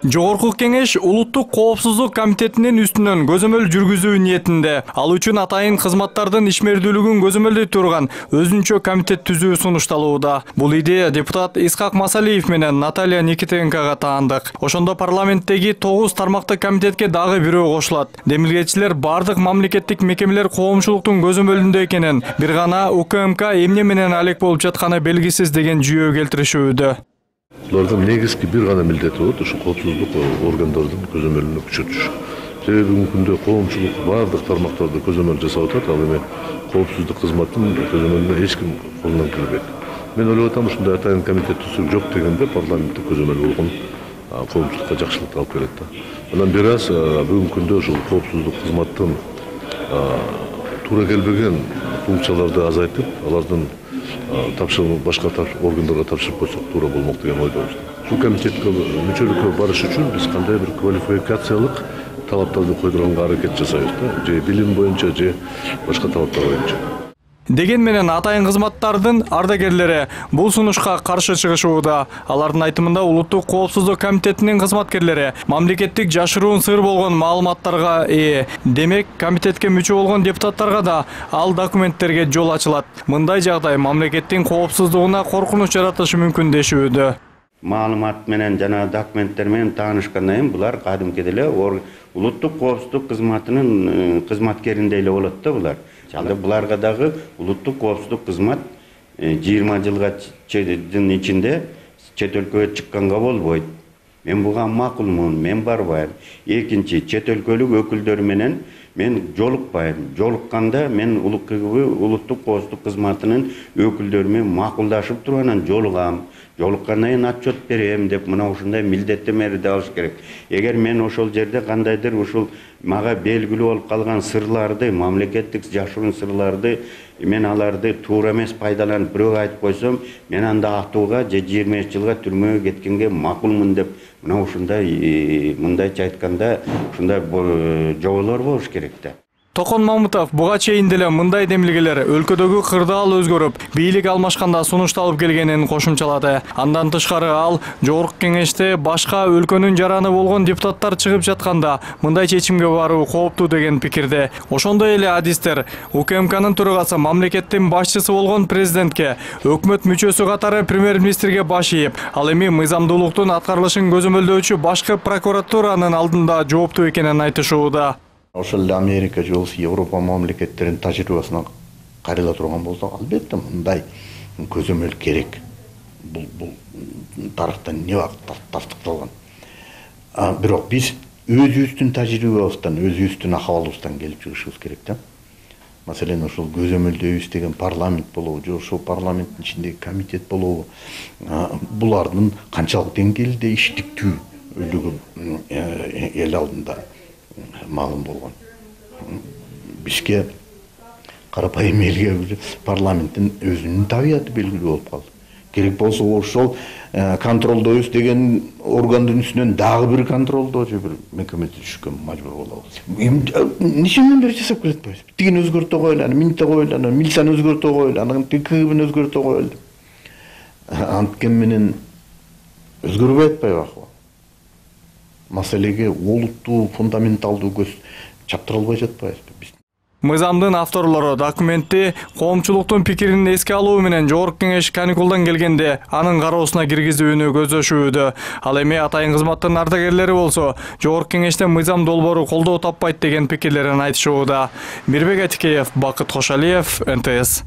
Жогорку кеңеш Улуттук коопсуздук комитетинин үстүнөн көзөмөл жүргүзүү ниетинде. Ал үчүн атайын кызматтардын ишмердүүлүгүн көзөмөлдөй турган өзүнчө комитет түзүү сунушталууда. Бул идея депутат Исхак Масалиев менен Наталья Никитенкага таандык. Ошондо парламенттеги 9 тармактык комитетке дагы бирөө кошулат. Демилгечилер бардык мамлекеттик мекемелер коомчулуктун көзөмөлүндө экенин, бир гана УКМК эмне менен алек болуп жатканы белгисиз деген жүйө келтиришүүдө. Булардын негизги бир гана милдети болот, ушу коопсуздук органдардын көзөмөлүнө күчөтүш. Себеби бүгүнкү күндө коомчулук бардык тармактарда көзөмөл жасап атат, ал эми коопсуздук кызматтын көзөмөлүнө эч ким колунан келбейт. Мен ойлоп атам, ушундай атайын комитет түзүк жок дегенде парламенттик көзөмөл болгон коомчулукка жакшылык алып келет да. Анан бир аз бүгүнкү күндө ушул коопсуздук кызматтын туура келбеген функцияларды азайтып, алардын тапшырып башка органдарга тапшырып койсок туура болмок деген ойдобуз. Ушул комитетке мүчөлүккө барыш үчүн биз кандай бир квалификациялык талаптарды койдурганга аракет жасайбыз да, же билим боюнча, же башка талаптар боюнча. Деген менен атайын кызматтардын ардагерлери бул сунушка каршы чыгышууда. Алардын айтымында Улуттук коопсуздук комитетинин кызматкерлери мамлекеттик жашыруун сыр болгон маалыматтарга ээ. Демек, комитетке мүчө болгон депутаттарга да ал документтерге жол ачылат. Мындай жагдай мамлекеттин коопсуздугуна коркунуч жаратышы мүмкүн дешүүдө. Маалымат менен жана документтер менен таанышкандан кийин булар кадимки эле Улуттук коопсуздук кызматынын кызматкериндей эле болот да булар. Ал буларга дагы улуттук коопсуздук кызмат 20 жылдын ичинде чет өлкөгө чыкканга болбойт. Мен буга макулмун, мен барбайм. Экинчи, чет өлкөлүк өкүлдөр менен мен жолукпайм. Жолукканда мен улуттук коопсуздук кызматынын өкүлдөрү менен макулдашып туруп анан жолугам. Жолуккандан кийин отчет берем деп мына ушундай милдеттемелерди алыш керек. Эгер мен ошол жерде кандайдыр ушул мага белгилүү болуп калган сырларды, мамлекеттик жашыруун сырларды, мен аларды туура эмес пайдаланып бирөөгө айтып койсом, мен анда атууга же 25 жылга түрмөгө кеткенге макулмун деп мына ушундай мындайча айтканда ушундай жоболор болуш керек да. Токон Мамытов буга чейин деле мындай демилгелер өлкөдөгү кырдаал өзгөрүп, бийлик алмашканда сунушталып келгенин кошумчалады. Андан тышкары ал Жогорку кеңеште башка өлкөнүн жараны болгон депутаттар чыгып жатканда мындай чечимге баруу кооптуу деген пикирде. Ошондой эле адистер УКМКнын төрагасы мамлекеттин башчысы болгон президентке, өкмөт мүчөсү катары премьер-министрге баш ийип, ал эми мыйзамдуулуктун аткарылышын көзөмөлдөөчү башкы прокуратуранын алдында жооптуу экенин айтышууда. Ошол эле Америка же Европа мамлекеттеринин тажрыйбасына карала турган болсок, албетте мындай көзөмөл керек. Бул тарыхтан не убакыт тастыкталган. Бирок биз өзүбүздүн тажрыйбабыздан, өзүбүздүн акыбалыбыздан келип чыгышыбыз керек да. Маселен, ошол көзөмөлдөйбүз деген парламент болобу, же ошол парламенттин ичиндеги комитет болобу, булардын канчалык деңгээлде иштиктүүлүгү эл алдында маалым болгон. Бизге карапайым элге парламенттин өзүнүн табияты белгилүү болуп калды. Керек болсо ошол контролдойбуз деген органдын үстүнөн дагы бир контролдоо же бир мекемеде түшкөн мажбур болобуз. Нече мемдер жасап келет атпайбыз? Тигин өзгөртө коелу, аны минте коелу, аны милицияны өзгөртө коелу, анан КГБны өзгөртө коелу. Анткен менен өзгөрбөй атпайбы акыбал? Маселеге олуттуу, фундаменталдуу көз чаптыра албай жатпайбызбы биз? Мыйзамдын авторлору документти коомчулуктун пикирин эске алуу менен Жогорку кеңеш каникулдан келгенде анын кароосуна киргизүүнү көздөшүүдө. Ал эми атайын кызматтын ардагерлери болсо Жогорку кеңеште мыйзам долбоору колдоо таппайт деген пикирлерин айтышууда. Мирбек Атикеев, Бакыт Кошалиев, НТС.